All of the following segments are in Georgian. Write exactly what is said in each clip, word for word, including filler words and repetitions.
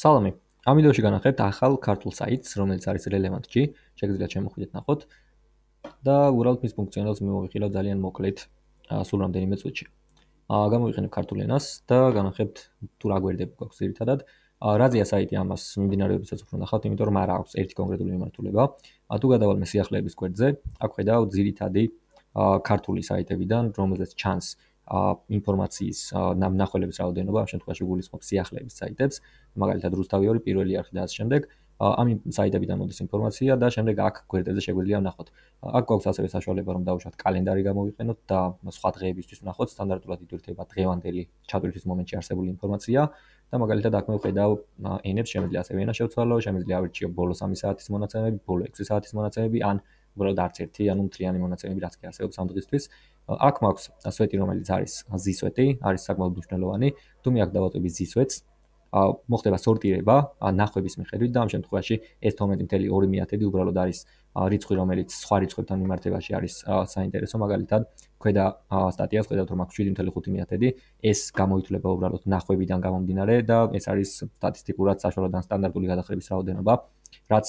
სალამი. ამ ვიდეოში განახლებთ ახალ ქართულ საიტს, რომელიც არის Relevant.g. შეგიძლიათ შემოხვიდეთ ნახოთ და უბრალოდ მის ფუნქციონალს მივიღილავ ძალიან მოკლედ სულ რამდენიმე წუთში. გამოვიყენებ ქართულ ენას და განახლებთ თუ რა გვერდები გვაქვს ძირითადად. რაზეა საიტი ამას მიმდინარეობისას უფრო ნახავთ, იმიტომ რომ არ აქვს ერთი კონკრეტული მიმართულება. თუ გადავალ მე სიახლეების გვერდზე, აქ ხედავ ძირითადი ქართული საიტებიდან, რომელზეც ჩანს ინფორმაციის ნახველების რაოდენობა, ამ შემთხვევაში გულისხმობ სიახლეების საიტებს, მაგალითად რუსთავი ორი, პირველი არხი და ასე შემდეგ. ამ საიტებიდან მოდის ინფორმაცია და შემდეგ აქ გვერდებზე შეგვიძლია ვნახოთ. აქ გვაქვს ასევე საშუალება რომ დავუშვათ კალენდარი გამოვიყენოთ და სხვა დღეებისთვის ვნახოთ, სტანდარტულად ითვლება დღევანდელი ჩატვირთვის მომენტში არსებული ინფორმაცია და მაგალითად აქ მე ვხედავ ენებს, შემიძლია ასევე ენა შევცვალო, შემიძლია ავირჩიო ბოლო სამი საათის მონაცემები, ბოლო ექვსი საათის მონაცემები ან უბრალოდ არც ერთი, ანუ მთლიანი მონაცემები რაც კი არსებობს ამ დღისთვის. აქ მაქვს სვეტი, რომელიც არის ზისვეტი, არის საკმაოდ მნიშვნელოვანი. თუ მე აქ დავატვევი ზისვეტს, მოხდება სორტირება ნახვების მიხედვით და ამ შემთხვევაში ეს თორმეტი კoma ორი მეათედი უბრალოდ არის რიცხვი, რომელიც სხვა რიცხვებთან მიმართებაში არის საინტერესო. მაგალითად, ქვედა სტატიას ხედავთ, რომ აქვს შვიდი კoma ხუთი მეათედი, ეს გამოითვლება უბრალოდ ნახვებიდან გამომდინარე და ეს არის სტატისტიკურად საშუალო და სტანდარტული გადახრების რაოდენობა, რაც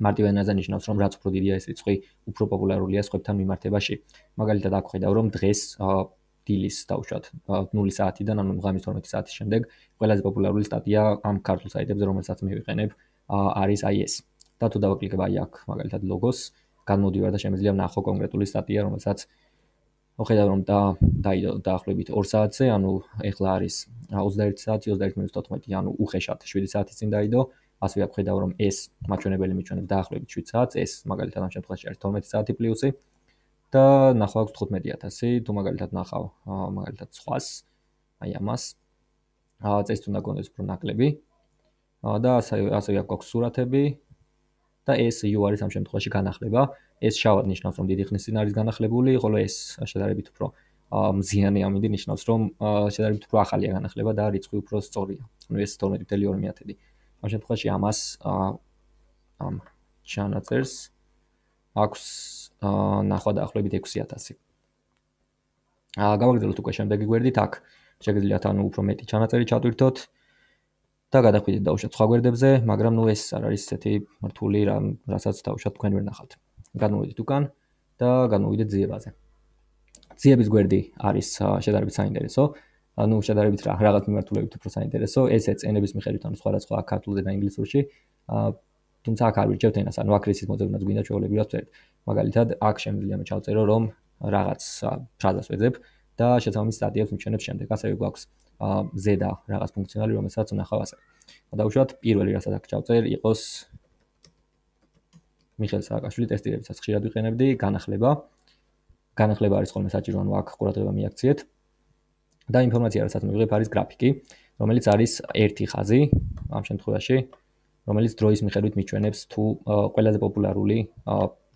მარტივ ენაზე ნიშნავს, რომ რაც უფრო დიდია ეს რიცხვი, უფრო პოპულარულია სხვებთან მიმართებაში. მაგალითად, აქ ხედავ, რომ დღეს დილის დავუშვათ ნული საათიდან, ანუ ღამის თორმეტი საათის შემდეგ, ყველაზე პოპულარული სტატია ამ ქართულ საიტებზე, რომელსაც მე ვიყენებ, არის აი ეს. და თუ დავაკლიკებ აი აქ, მაგალითად ლოგოს, განმოვდივარ და შემიძლია ვნახო კონკრეტული სტატია, რომელსაც ხედავ, რომ დაიდო დაახლოებით ორ საათზე, ანუ ეხლა არის ოცდაერთი საათი, ოცდაერთი მინუს თოთხმეტი, ანუ უხეშად შვიდი საათის წინ დაიდო. ასევე აქ ხედავ, რომ ეს მაჩვენებელი მიჩვენებს დაახლოებით შვიდ საათს, ეს მაგალითად ამ შემთხვევაში არის თორმეტი საათი პლუსი და ნახვა აქვს თხუთმეტი ათასი, თუ მაგალითად ნახავ, მაგალითად სხვას, აი ამას. წესით უნდა გქონდეს უფრო ნაკლები. და ასევე აქ გვაქვს სურათები და ეს U არის ამ შემთხვევაში განახლება. ეს შავად ნიშნავს, რომ დიდი ხნის წინ არის განახლებული, ხოლო ეს შედარებით უფრო მზიანი ამინდი ნიშნავს, რომ შედარებით უფრო ახალია განახლება და რიცხვი უფრო სწორია. ანუ ეს თორმეტი კoma ორი მეათედი. ამ შემთხვევაში ამას ამ ჩანაწერს აქვს ნახვა დაახლოებით ექვსი ათასი. გავაგრძელოთ უკვე შემდეგი გვერდით, აქ შეგიძლიათ ანუ უფრო მეტი ჩანაწერი ჩატვირთოთ და გადახვიდეთ დავუშვათ სხვა გვერდებზე, მაგრამ ნუ ეს არ არის ესეთი რთული, რასაც დავუშვათ თქვენ ვერ ნახავთ. გადმოვიდეთ უკან და გადმოვიდეთ ძიებაზე. ძიების გვერდი არის შედარებით საინტერესო. ანუ შედარებით რაღაც მიმართულებით უფრო საინტერესო. ესეც ენების მიხედვით, ანუ სხვადასხვა ქართულზე და ინგლისურში. თუმცა აქ არ ვირჩევთ ენას, ანუ აქ რისის მოძებნაც გვინდა ჩვეულებრივად ვწერთ. მაგალითად, აქ შემიძლია მე ჩავწერო, რომ რაღაც ფრაზას ვეძებ და შესაბამის სტატიებს მივჩენებ შემდეგ. ასევე გვაქვს ზედა რაღაც ფუნქციონალი, რომელსაც ვნახავ ასე. დავუშვათ, პირველი რასაც აქ ჩავწერ, იყოს მიხეილ სააკაშვილი ტესტირებიცაც ხშირად ვიყენებდი, განახლება. განახლება არის ხოლმე საჭირო, ანუ აქ ყურადღება მიაქციეთ. და ინფორმაცია, რასაც მივიღებ, არის გრაფიკი, რომელიც არის ერთი ხაზი ამ შემთხვევაში, რომელიც დროის მიხედვით მიჩვენებს თუ ყველაზე პოპულარული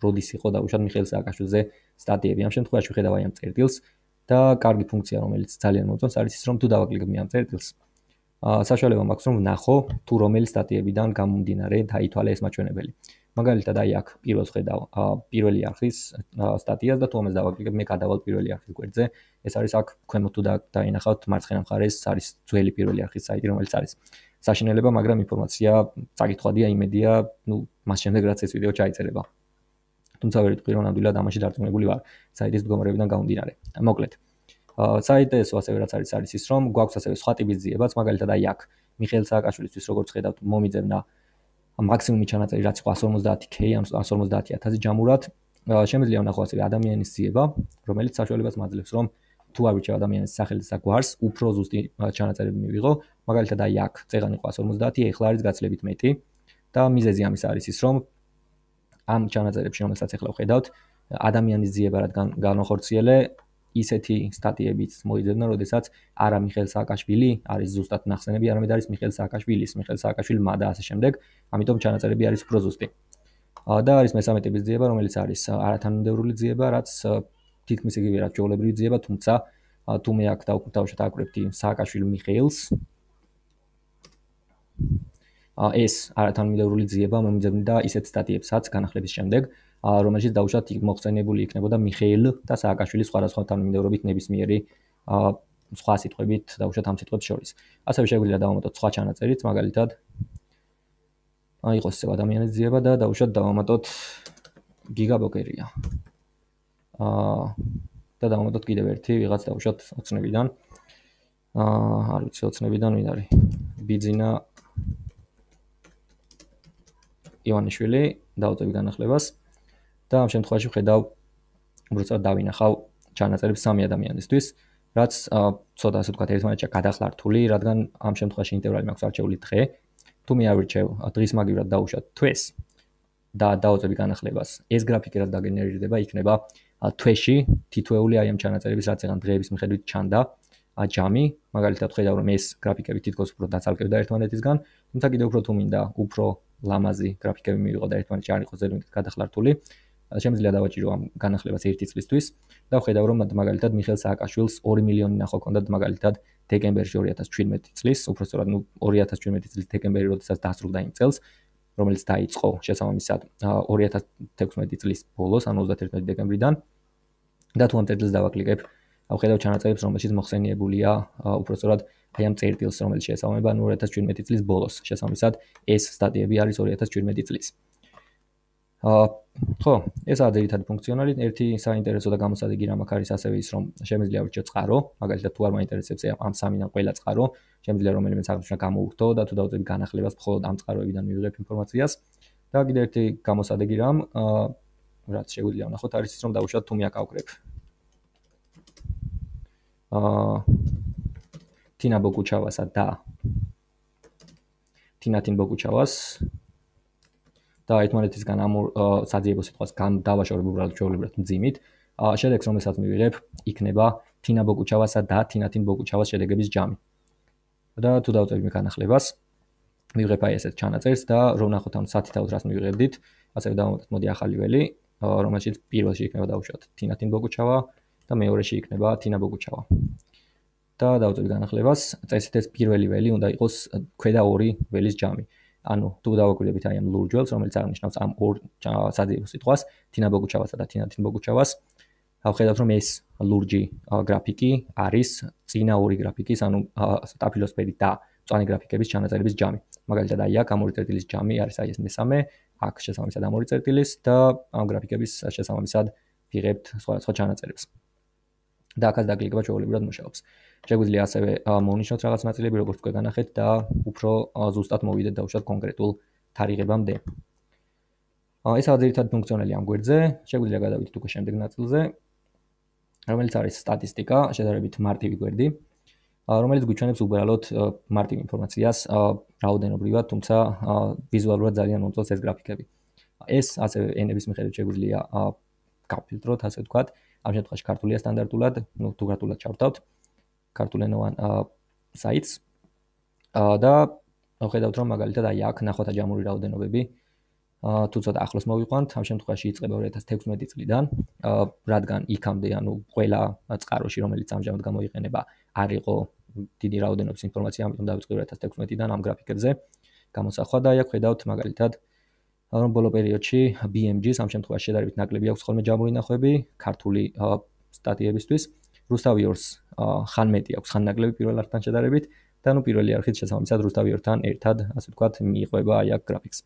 როდის იყო დავუშვათ მიხეილ სააკაშვილზე სტატიები. ამ შემთხვევაში ვხედავ აი ამ წერტილს და კარგი ფუნქცია, რომელიც ძალიან მომწონს, არის ის, რომ თუ დავაკლიკებ მე ამ წერტილს, საშუალება მაქვს რომ ვნახო თუ რომელი სტატიებიდან გამომდინარე დაითვალე ეს მაჩვენებელი. მაგალითად, აი აქ პირველს ხედავ პირველი არხის სტატიას და თუ ამას დავაკლიკებ, მე გადავალ პირველი არხის გვერდზე. ეს არის აქ ქვემოთ თუ დაინახავთ მარცხენა მხარეს არის ძველი პირველი არხის საიტი, რომელიც არის საშინელება, მაგრამ ინფორმაცია წაკითხვადია, იმედია, ნუ მას შემდეგ რაც ეს ვიდეო ჩაიწერება. თუმცა ვერ ვიტყვი, რომ ნამდვილად ამაში დარწმუნებული ვარ საიტის მდგომარეობიდან გამომდინარე. მოკლედ, საინტერესო ასევე რაც არის არის ის, რომ გვაქვს ასევე სხვა ტიპის ძიებაც, მაგალითად აი აქ მიხეილ სააკაშვილისთვის როგორც ხედავთ, მომიძებნა მაქსიმუმი ჩანაწერი რაც იყო εκατს ორმოცდაათი K, ანუ εκατს ორმოცდაათი ათასი ჯამურად. შემიძლია ვნახო ასევე ადამიანის ძიება, რომელიც საშუალებას მაძლევს, რომ თუ ავირჩევ ადამიანის სახელის და გვარს, უფრო ზუსტი ჩანაწერები მივიღო. მაგალითად აი აქ წეღანი იყო εκατს ორმოცდაათი, ეხლა არის გაცილებით მეტი და მიზეზი ამის არის ის, რომ ამ ჩანაწერებში, რომელსაც ეხლა ვხედავთ, ადამიანის ძიება რადგან განვახორციელე, ისეთი სტატიებიც მოიძებნა, როდესაც არა მიხეილ სააკაშვილი არის ზუსტად ნახსენები, არამედ არის მიხეილ სააკაშვილის, მიხეილ სააკაშვილმა და ასე შემდეგ. ამიტომ ჩანაწერები არის უფრო ზუსტი. და არის მესამე ტიპის ძიება, რომელიც არის არათანმიმდევრული ძიება, რაც თითქმის იგივე რაც ჩვეულებრივი ძიება, თუმცა თუ მე აქ დავუშვათ აკვრებდი სააკაშვილი მიხეილს, ეს არათანმიმდევრული ძიება მომიძებნდა ისეთ სტატიებსაც განახლების შემდეგ, რომელშიც დავუშვათ მოხსენებული იქნებოდა მიხეილ და სააკაშვილის სხვადასხვა თანმიმდევრობით ნებისმიერი სხვა სიტყვებით დავუშვათ ამ სიტყვებს შორის. ასევე შეგვიძლია დავამატოთ სხვა ჩანაწერიც, მაგალითად აი იყოს ეს ადამიანის ძიება და დავუშვათ დავამატოთ გიგაბოკერია. აა და დავამატოთ კიდევ ერთი ვიღაც დავუშვათ ოცნებიდან. აა არ ვიცი ოცნებიდან ვინ არის? ბიძინა ივანიშვილი დავუწევი განახლებას და ამ შემთხვევაში ვხედავ უბრალოდ დავინახავ ჩანაწერებს სამი ადამიანისთვის, რაც ცოტა ასე ვთქვათ ერთმანეთში გადახლართული, რადგან ამ შემთხვევაში ინტერვალი მაქვს არჩეული დღე. თუ მე ავირჩევ დღის მაგივრად დავუშვათ თვეს და დავუწევი განახლებას, ეს გრაფიკი რაც დაგენერირდება იქნება თვეში თითოეული აი ამ ჩანაწერების რაც ეგან დღეების მიხედვით ჩანდა ჯამი, მაგალითად ხედავ რომ ეს გრაფიკები თითქოს უფრო დაცალკევდა ერთმანეთისგან, თუმცა კიდევ უფრო თუ მინდა უფრო ლამაზი გრაფიკები მივიღო და ერთმანეთში არ იყოს ზედმეტად გადახლართული, შემიძლია დავაჭირო ამ განახლებას ერთი წლისთვის და ვხედავ რომ მაგალითად მიხეილ სააკაშვილს ორი მილიონი ნახო ჰქონდა მაგალითად დეკემბერში ორი ათას ჩვიდმეტი წლის, უბრალოდ ნუ ორი ათას ჩვიდმეტი წლის დეკემბერი როდესაც დასრულდა იმ წელს, რომელიც დაიწყო შესაბამისად ორი ათას თექვსმეტი წლის ბოლოს, ანუ ოცდაათი დეკემბრიდან და თუ ამ წერტილს დავაკლიკებ, ავხედავ ჩანაწერებს, რომელშიც მოხსენიებულია უბრალოდ აი ამ წერტილს, რომელიც შეესაბამება ორი ათას ჩვიდმეტი წლის ბოლოს, შესაბამისად ეს სტატიები არის ორი ათას ჩვიდმეტი წლის. აა ხო, ესაა ძირითადი ფუნქციონალი. ერთი საინტერესო და გამოსადეგი რამ აქ არის ასევე ის, რომ შემიძლია ვირჩიო წყარო, მაგალითად თუ არ მაინტერესებს ამ სამიდან ყველა წყარო, შემიძლია რომელიმე აღნიშნა გამოვხდო და თუ დავწევი განახლებას, მხოლოდ ამ წყაროებიდან მივიღებ ინფორმაციას. და კიდევ ერთი გამოსადეგი რამ, აა რაც შეგვიძლია ვნახოთ, არის ის, რომ დავუშვათ თუ მე აქ ავკრებ აა თინა ბოგუჩავასა და თინათინ ბოგუჩავას და ერთმანეთისგან ამ საძიებო სიტყვას დავაშორებ უბრალოდ ჩვეულებრივად მძიმით, შედეგს რომელსაც მივიღებ იქნება თინა ბოგუჩავასა და თინათინ ბოგუჩავას შედეგების ჯამი. და თუ დავწევი მე განახლებას, მივიღებ აი ესეთ ჩანაწერს და რომ ვნახოთ ამ სათითაოდ რას მივიღებდით, ასევე დავამატოთ მოდი ახალი ველი, რომელშიც პირველში იქნება დავუშვათ თინათინ ბოგუჩავა და მეორეში იქნება თინა ბოგუჩავა. და დავწევი განახლებას, წესით ეს პირველი ველი უნდა იყოს ქვედა ორი ველის ჯამი. ანუ თუ დავაკვირდებით აი ამ ლურჯველს, რომელიც აღნიშნავს ამ ორ საძიებო სიტყვას, თინა ბოგუჩავასა და თინათინ ბოგუჩავას, ავხედავთ რომ ეს ლურჯი გრაფიკი არის წინა ორი გრაფიკის, ანუ სტაფილოსფერი და მწვანე გრაფიკების ჩანაწერების ჯამი. მაგალითად აი აქ ამ ორი წერტილის ჯამი არის აი ეს მესამე, აქ შესაბამისად ამ ორი წერტილის და ამ გრაფიკების შესაბამისად ვიღებთ სხვა სხვა ჩანაწერებს. და აქაც დაკლიკება ჩვეულებრივად მუშაობს. შეგვიძლია ასევე მოვნიშნოთ რაღაც ნაწილები, როგორც თქვენ განახეთ და უფრო ზუსტად მოვიდეთ დავუშვათ კონკრეტულ თარიღებამდე. ესაა ძირითადი ფუნქციონალი ამ გვერდზე. შეგვიძლია გადავიდეთ უკვე შემდეგ ნაწილზე, რომელიც არის სტატისტიკა, შედარებით მარტივი გვერდი, რომელიც გვიჩვენებს უბრალოდ მარტივ ინფორმაციას რაოდენობრივად, თუმცა ვიზუალურად ძალიან მომწონს ეს გრაფიკები. ეს ასევე ენების მიხედვით შეგვიძლია გავფილტროთ, ასე ვთქვათ. ამ შემთხვევაში ქართულია სტანდარტულად, ну თუ ქართულად ჩავთავთ ქართულენოვან საიტს და ვხედავთ რომ მაგალითად აი აქ ნახვათა ჯამური რაოდენობები თუ ცოტა ახლოს მოვიყვანთ, ამ შემთხვევაში იწყება ორი ათას თექვსმეტი წლიდან, რადგან იქამდე ანუ ყველა წყაროში რომელიც ამჟამად გამოიყენება არ იყო დიდი რაოდენობის ინფორმაცია, ამიტომ დავიწყე ორი ათას თექვსმეტიდან ამ გრაფიკებზე გამოსახვა და აი აქ ვხედავთ მაგალითად რომ ბოლო პერიოდში ბი ემ ჯის ამ შემთხვევაში შედარებით ნაკლები აქვს ხოლმე ჯამური ნახვები ქართული სტატიებისთვის. რუსთავიორს ხან მეტი აქვს ხან ნაკლები პირველ არხთან შედარებით და ნუ პირველი არხით შესაბამისად რუსთავიორთან ერთად, ასე ვთქვათ, მიიყვება აი აქ გრაფიკს.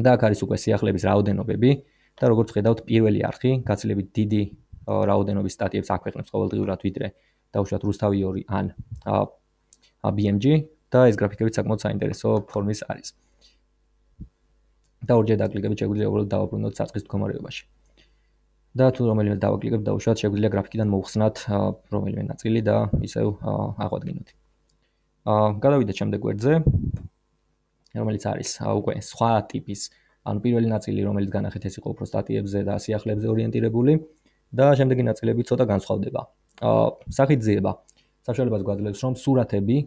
და აქ არის უკვე სიახლეების რაოდენობები და როგორც ხედავთ, პირველი არხი გაცილებით დიდი რაოდენობის სტატიებს აქვეყნებს ყოველდღიურად ვიდრე დავუშვათ რუსთავიორი ან ბი ემ ჯი და ეს გრაფიკები საკმაოდ საინტერესო ფორმის არის. და ორჯერ დაკლიკებით შეგვიძლია უბრალოდ დავაბრუნოთ საწყის მდგომარეობაში. და თუ რომელიმე დავაკლიკებთ, დავუშვათ, შეგვიძლია გრაფიკიდან მოვხსნათ რომელიმე ნაწილი და ისევ აღვადგინოთ. აა გადავიდეთ შემდეგ გვერდზე, რომელიც არის უკვე სხვა ტიპის, ანუ პირველი ნაწილი, რომელიც განახეთ ეს იყო უფრო სტატიებზე და სიახლეებზე ორიენტირებული და შემდეგი ნაწილები ცოტა განსხვავდება. აა სახით ძიება საშუალებას გვაძლევს რომ სურათები,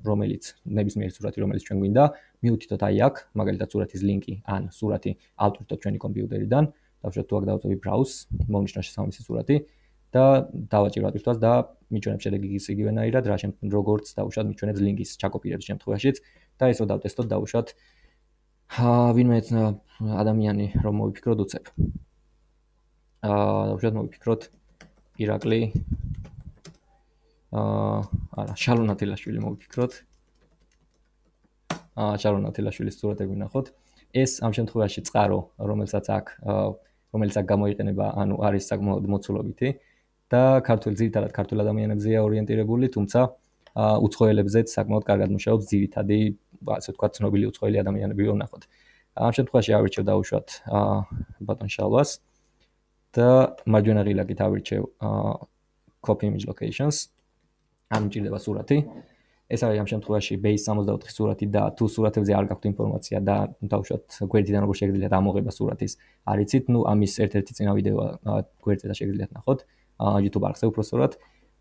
რომელიც ნებისმიერი სურათი, რომელიც ჩვენ გვინდა, მივუთითოთ აი აქ, მაგალითად სურათის ლინკი ან სურათი ავტვირთოთ ჩვენი კომპიუტერიდან, დავუშვათ თუ აქ დავწევი browse, მოვნიშნოთ შესაბამისი სურათი და დავაჭირო ავტვირთვას და მიჩვენებს შედეგი ის იგივენაირად, რა შემთხვევაში როგორც დავუშვათ მიჩვენებს ლინკის ჩაკოპირების შემთხვევაშიც და ეს რო დავტესტოთ, დავუშვათ ვინმე ადამიანი რომ მოვიფიქროთ უცებ. აა დავუშვათ მოვიფიქროთ ირაკლი აა არა, შალონ ათილაშვილი მოვიფიქროთ. აა შალონ ათილაშვილის სურათები ვნახოთ. ეს ამ შემთხვევაში წყარო, რომელსაც აქ რომელიც აქ გამოიყენება, ანუ არის საკმაოდ მოცულობითი და ქართულ ძირითადად ქართულ ადამიანებზეა ორიენტირებული, თუმცა უცხოელებზეც საკმაოდ კარგად მუშაობს ძირითადი, ასე ვთქვათ, ცნობილი უცხოელი ადამიანები ვნახოთ. ამ შემთხვევაში ავირჩევ დავუშვათ ბატონ შალვას და მარჯვენა ღილაკით ავირჩევ copy image locations. ამ მჭირდება სურათი. ეს არის ამ შემთხვევაში base სამოცდაოთხი სურათი და თუ სურათებზე არ გაქვთ ინფორმაცია და დავუშვათ გვერდიდან როგორ შეგიძლიათ ამოღება სურათის არ იცით, ნუ ამის ერთ-ერთი წინა ვიდეო გვერდზე და შეგიძლიათ ნახოთ YouTube არხზე უпроსტად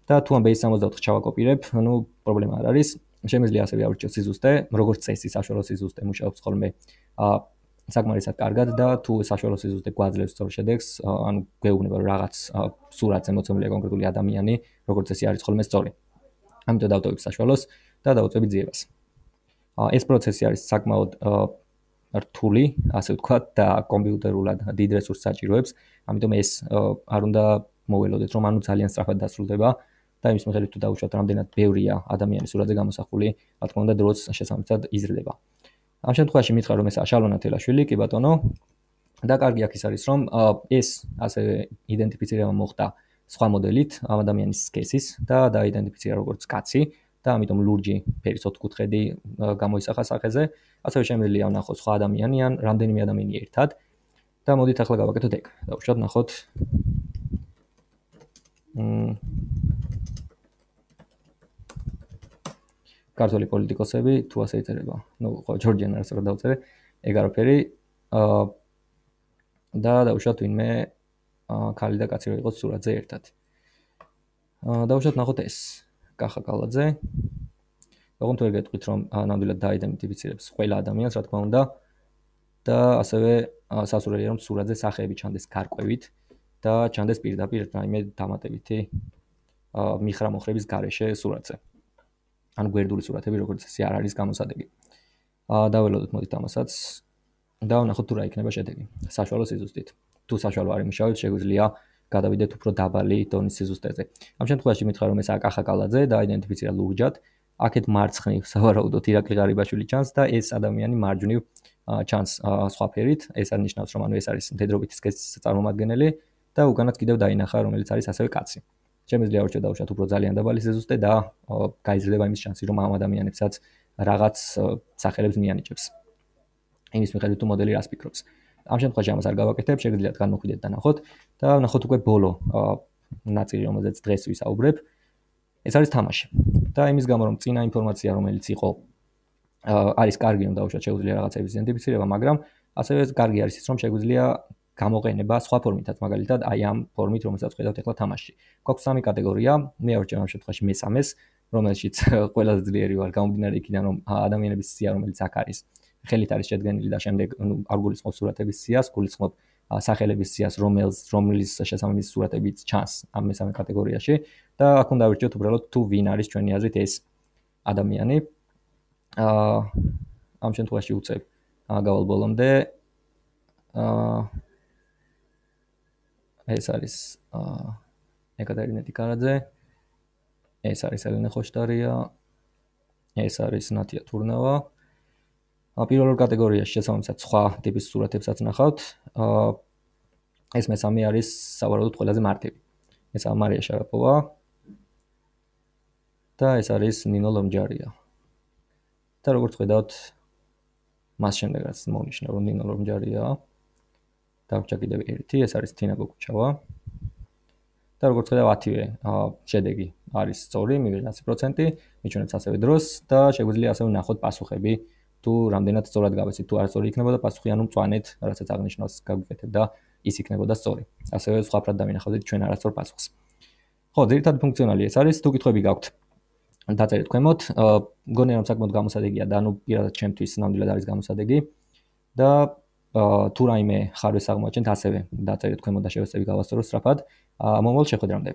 და თუ ამ base სამოცდაოთხს ჩავაკოპირებ, ნუ პრობლემა არ არის. შემიძლია ასევე ავირჩიოთ სიზუსტე, როგორც წესი საშუალო სიზუსტე მუშაობს ხოლმე საკმარისად კარგად და თუ საშუალო სიზუსტე გვაძლევს სწორ შედეგს, ანუ გვეუბნება რომ რაღაც სურათზე მოცემულია კონკრეტული ადამიანი, როგორც წესი არის ხოლმე სწორი. ამიტომ დავტოვებ საშუალოს და დავუწევი ძიებას. ეს პროცესი არის საკმაოდ რთული, ასე ვთქვათ, და კომპიუტერულად დიდ რესურსს საჭიროებს, ამიტომ ეს არ უნდა მოველოდეთ, რომ ანუ ძალიან სწრაფად დასრულდება და იმის მიხედვით თუ დავუშვათ, რამდენად ბევრია ადამიანის სურათზე გამოსახული, რა თქმა უნდა, დროც შესაბამისად იზრდება. ამ შემთხვევაში მითხრა, რომ ეს შალონ ათილაშვილი, კი ბატონო, და კარგი აქ ის არის, რომ ეს ასევე იდენტიფიცირება მოხდა სხვა მოდელით ამ ადამიანის სქესის და დაიდენტიფიცირა როგორც კაცი და ამიტომ ლურჯი ფერის ოთხკუთხედი გამოისახა სახეზე. ასევე შემიძლია ვნახოთ სხვა ადამიანი ან რამდენიმე ადამიანი ერთად და მოდით ახლა გავაკეთოთ ეგ. დავუშვათ ნახოთ. ქართული პოლიტიკოსები თუ ასე იწერება. ნუ ხო ჯორჯიან არც რა დავწერე. ეგ არაფერი. და დავუშვათ ვინმე ქალი და კაცი რო იყოს სურათზე ერთად. დავუშვათ ნახოთ ეს კახა კალაძე. ოღონდ ვერ გეტყვით რომ ნამდვილად დაიდენტიფიცირებს ყველა ადამიანს, რა თქმა უნდა. და ასევე სასურველია რომ სურათზე სახეები ჩანდეს გარკვევით და ჩანდეს პირდაპირ რაიმე დამატებითი მიხრა-მოხრების გარეშე სურათზე. ან გვერდული სურათები როგორც ესე არ არის გამოსადეგი. დაველოდოთ მოდით ამასაც და ვნახოთ თუ რა იქნება შედეგი. საშუალო სიზუსტით. თუ საშუალო არ იმუშავებს, შეგვიძლია გადავიდეთ უფრო დაბალი დონის სიზუსტეზე. ამ შემთხვევაში მითხრა რომ ეს კახა კალაძე დაიდენტიფიცირა ლურჯად. აქეთ მარცხნივ სავარაუდოდ ირაკლი ღარიბაშვილი ჩანს და ეს ადამიანი მარჯვნივ ჩანს სხვა ფერით. ეს არნიშნავს რომ ანუ ეს არის მდედრობითი სქესის წარმომადგენელი და უკანაც კიდევ დაინახა რომელიც არის ასევე კაცი. შემიძლია ავირჩიოთ დავუშვათ უფრო ძალიან დაბალი სიზუსტე და გაიზრდება იმის შანსი რომ ამ ადამიანებსაც რაღაც სახელებს მიანიჭებს. იმის მიხედვით თუ მოდელი რას ფიქრობს. ამ შემთხვევაში ამას არ გავაკეთებ, შეგიძლიათ განმოხვიდეთ და ნახოთ და ნახოთ უკვე ბოლო ნაწილი რომელზეც დღეს ვისაუბრებ. ეს არის თამაში. და იმის გამო რომ წინა ინფორმაცია რომელიც იყო არის კარგი რომ დავუშვათ შეგვიძლია რაღაცების იდენტიფიცირება, მაგრამ ასევე კარგი არის ის რომ შეგვიძლია გამოყენება სხვა ფორმითაც, მაგალითად აი ამ ფორმით რომელსაც ხედავთ ახლა თამაში. გვაქვს სამი კატეგორია, მე ავირჩევ ამ შემთხვევაში მესამეს, რომელშიც ყველაზე ძლიერი ვარ გამომდინარე იქიდან რომ ადამიანების სია რომელიც აქ არის, ხელით არის შედგენილი და შემდეგ არ გულისხმობს სურათების სიას, გულისხმობ სახელების სიას, რომელს რომლის შესაბამისი სურათებიც ჩანს ამ მესამე კატეგორიაში და აქ უნდა ავირჩიოთ უბრალოდ თუ ვინ არის ჩვენი აზრით ეს ადამიანი. აა ამ შემთხვევაში უწევ გავალ ბოლომდე. აა ეს არის აა ეკატერინე ტიკარაძე. ეს არის ელენე ხოშტარია. ეს არის ნათია თურნავა. პირველ ორ კატეგორიაში შესაბამისად სხვა ტიპის სურათებსაც ნახავთ. აა ეს მესამე არის სავარაუდოდ ყველაზე მარტივი. ეს არის მარია შარაპოვა. და ეს არის ნინო ლომჯარია. და როგორც ხედავთ, მას შემდეგაც მოვნიშნე რომ ნინო ლომჯარია. დავჭა კიდევ ერთი, ეს არის თინა გოგუჩავა. და როგორც ხედავ ათივე შედეგი არის სწორი, მივიღეთ ათი პროცენტი, მიჩვენებს ასევე დროს და შეგვიძლია ასევე ნახოთ პასუხები, თუ რამდენად სწორად გავეცით, თუ არ სწორი იქნებოდა პასუხი, ანუ მწვანეთ, რასაც აღნიშნავს გავიკეთებ და ის იქნებოდა სწორი. ასევე სხვაფრად დავინახავთ ჩვენ არასწორ პასუხს. ხო, ძირითადად ფუნქციონალი ეს არის, თუ კითხვები გაქვთ, დაწერეთ ქვემოთ. მგონია რომ საკმაოდ გამოსადეგია და ანუ პირადად ჩემთვის ნამდვილად არის გამოსადეგი და თუ რაიმე ხარვეს აღმოაჩენთ, ასევე დაწერეთ ქვემოთ და შევეცდები გავასწოროთ სწრაფად. მომავალ შეხვედრამდე.